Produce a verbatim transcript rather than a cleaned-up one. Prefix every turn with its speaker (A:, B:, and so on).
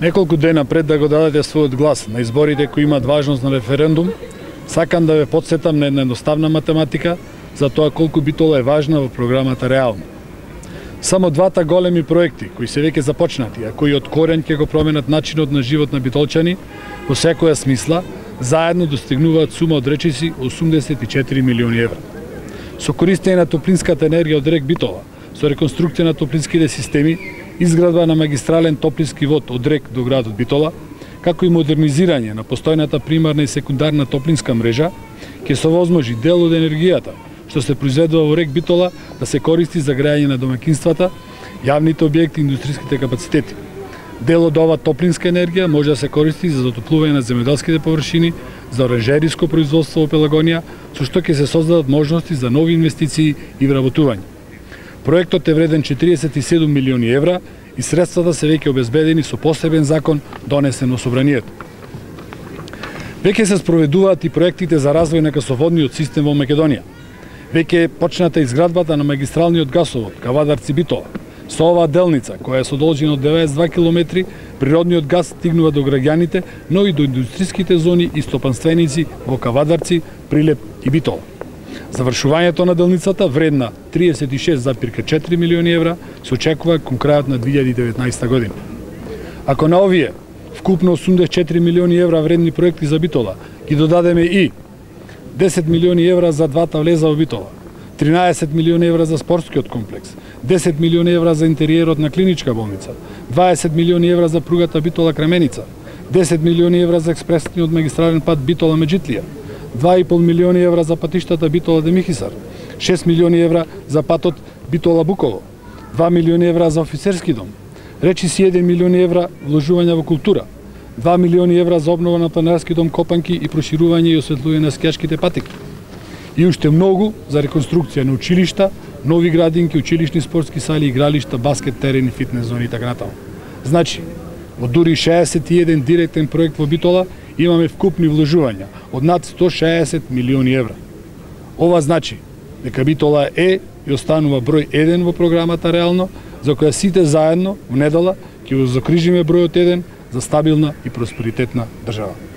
A: Неколку дена пред да го дадете својот глас на изборите кои имаат важност на референдум, сакам да ве потсетам на една едноставна математика за тоа колку Битола е важна во програмата реално. Само двата големи проекти кои се веќе започнати, а кои од корен ќе го променат начинот на живот на битолчани во секоја смисла, заедно достигнуваат сума од речиси осумдесет и четири милиони евра. Со користење на топлинската енергија од рек Битола, со реконструкција на топлинските системи, изградба на магистрален топлински вод од рек до градот Битола, како и модернизирање на постојната примарна и секундарна топлинска мрежа, ќе се овозможи дел од енергијата што се произведува во рек Битола да се користи за грејање на домаќинствата, јавните објекти и индустријските капацитети. Дел од ова топлинска енергија може да се користи за затоплување на земјоделските површини, за оранжериско производство во Пелагонија, со што ќе се создадат можности за нови инвестиции и вработување. Проектот е вреден четириесет и седум милиони евра и средствата се веќе обезбедени со посебен закон донесен во Собранието. Веќе се спроведуваат и проектите за развој на гасоводниот систем во Македонија. Веќе е почната изградбата на магистралниот гасовод Кавадарци Битола. Со оваа делница, која е со должина од деветдесет и два километри, природниот газ стигнува до граѓаните, но и до индустријските зони и стопанственици во Кавадарци, Прилеп и Битола. Завршувањето на делницата, вредна триесет и шест зарез четири милиони евра, се очекува кон крајот на две илјади и деветнаесета година. Ако на овие вкупно осумдесет и четири милиони евра вредни проекти за Битола ги додадеме и десет милиони евра за двата влеза во Битола, тринаесет милиони евра за спортскиот комплекс, десет милиони евра за интериерот на клиничка болница, дваесет милиони евра за пругата Битола Кременица, десет милиони евра за експресниот магистрален пат Битола Меджитлија, два и пол милиони евра за патиштата Битола Демихисар, шест милиони евра за патот Битола Буково, два милиони евра за офицерски дом, речиси еден милион евра вложување во култура, два милиони евра за обнова на планинарски дом Копанки и проширување и осветлување на скијачките патеки. И уште многу за реконструкција на училишта, нови градинки, училишни спортски сали, игралишта, баскет терени, фитнес зони и така натаму. Значи, во дури шеесет и еден директен проект во Битола имаме вкупни вложувања од над сто шеесет милиони евра. Ова значи дека Битола е и останува број еден во програмата реално, за која сите заедно во недела ќе го закрижиме бројот еден за стабилна и просперитетна држава.